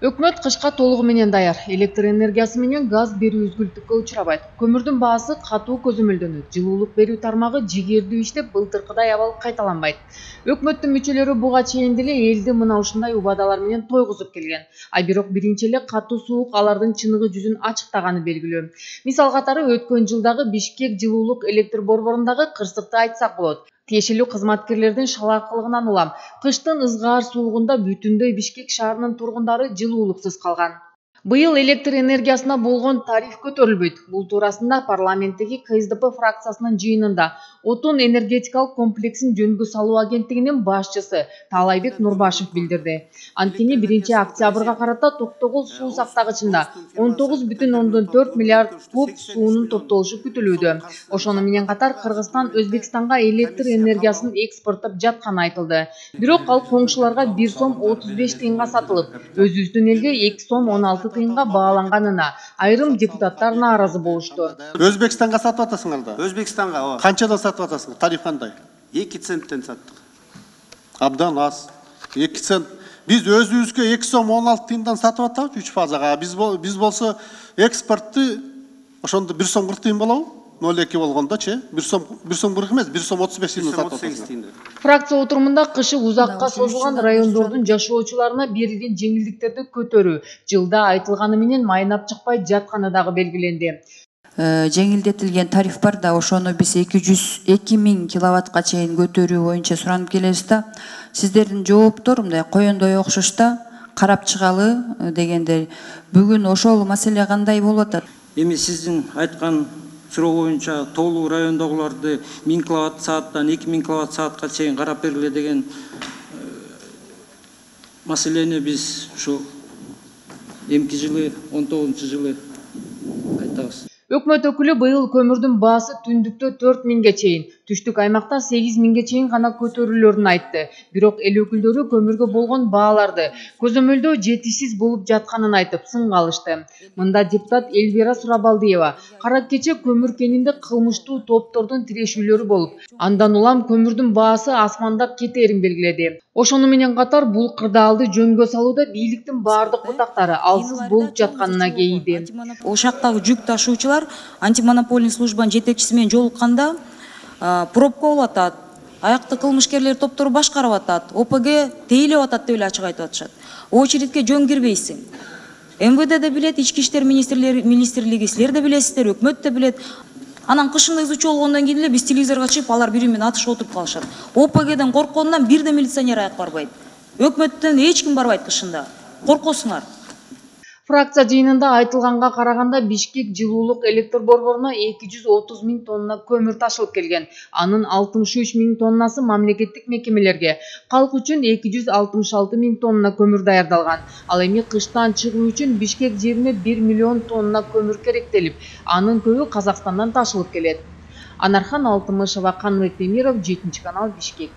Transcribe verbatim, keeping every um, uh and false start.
Өкмөт кышка толугу менен даяр. Электр энергиясы менен газ берүү үзгүлтүккө учурабайт. Көмүрдүн баасы катуу көзөмөлдөнөт. Жылуулук берүү тармагы жигердүү иштеп, былтыркыдай абал кайталанбайт. Өкмөттүн мүчөлөрү буга чейин деле элди мына ушундай убадалар менен тойгузуп келген. А бирок биринчи эле катуу суук алардын чыныгы жүзүн ачыктаганы белгилүү. Мисал катары өткөн жылдагы Бишкек жылуулук электр борборундагы кырсыкты айтсак болот. Тиешелүү кызматкерлердин шалаакылыгынан улам, кыштын ызгаар суугунда бүтүндөй Бишкек шаарынын тургундары жылуулуксуз калган. Быйыл электр энергиясына болгон тариф көтөрүлбөйт. Бул туурасында парламенттеги ка эс дэ пэ фракциясынын жыйынында Отун энергетикалык комплексин жөнгө салуу агенттигинин башчысы Таалайбек Нурбашев билдирди. Анткени биринчи октябрга карата Токтогул суу сактагычында он тогуз бүтүн ондон төрт миллиард куб суунун топтолушу күтүлүүдө. Ошону менен катар Кыргызстан Өзбекстанга электр энергиясын экспорттоп жатканы айтылды. Бирок ал коңшуларга бир сом отуз беш тыйынга сатылып, өзүбүздүн элге эки сом он алты тыйынга бааланганына айрым депутаттар нааразы болушту. Өзбекстанга сатып атасыңар да? Өзбекстанга ооба. Канчадан сатып атасыңар? Тариф кандай? эки центтен саттык. Абдан аз. эки цент. Биз өзүбүзгө эки сом он алты тыйындан сатып атабыз үч фазага. Биз биз болсо экспортты ошондо бир сом кырк тыйын болобу? ноль эки болгондочу, бир сом бир сом кырк эмес, бир сом отуз беш тыйындан сатып атабыз. Фракция отурумунда кышы узакка созулган райондордун жашоочуларына берилген жеңилдиктерди көтөрүү жылда айтылганы менен майнап чыкпай жатканы дагы белгиленди. Жеңилдетилген тариф бар да, ошону биз эки жүз эки миң киловаттка чейин көтөрүү боюнча суранып келебиз да. Сиздердин жооптор мындай коёндой окшош да, карап чыгалы дегендей. Бүгүн ошол маселе кандай болуп атат? Эми сиздин айткан суроо боюнча тоолуу райондогуларды миң киловатт сааттан эки миң киловатт саатка чейин карап бергиле деген маселени биз ушу эмки жылы он тогузунчу жылы айтабыз. Өкмөт өкүлү быйыл көмүрдүн баасы түндүктө төрт миңге чейин, түштүк аймакта сегиз миңге чейин гана көтөрүлөрүн айтты. Бирок эл өкүлдөрү көмүргө болгон бааларды көзөмөлдөө жетишсиз болуп жатканын айтып сынга алышты. Мында депутат Эльвира Сурабалдиева кара кече көмүр кенинде кылмыштуу топтордун тирешүүлөрү болуп, андан улам көмүрдүн баасы асмандап кетерин белгиледи. Ошону менен катар бул кырдаалды жөнгө салууда бийликтин баардык бутактары алсыз болуп жатканына кейиди. Ошактагы жүк ташуучулар антимонопольный службанын жетекчиси менен жолукканда пробка болуп атат, аякты кылмышкерлер топтору башкарып атат, о пэ гэ тейлеп атат деп эле ачык айтып атышат. Очередке жөн кирбейсиң. эм вэ дэ да билет, ички иштер министрлиги, силер да билесиздер, өкмөт да билет. Анан кышында изучу болгондон кийин эле биз телевизорго чыгып, алар бири менен атышып отуруп калышат. о пэ гэден корккондон бир да милиционер аяк барбайт. Өкмөттөн эч ким барбайт кышында. Коркосуңар. Фракция жыйынында айтылганга караганда Бишкек жылуулук электр борборуна эки жүз отуз миң тонна көмүр ташылып келген. Анын алтымыш үч миң тоннасы мамлекеттик мекемелерге, калк үчүн эки жүз алтымыш алты миң тонна көмүр даярдалган. Ал эми кыштан чыгуу үчүн Бишкек жерине бир миллион тонна көмүр керектелип, анын көбү Казакстандан ташылып келет. Анархан Алтымышева, Каныбек Темиров, жетинчи канал, Бишкек.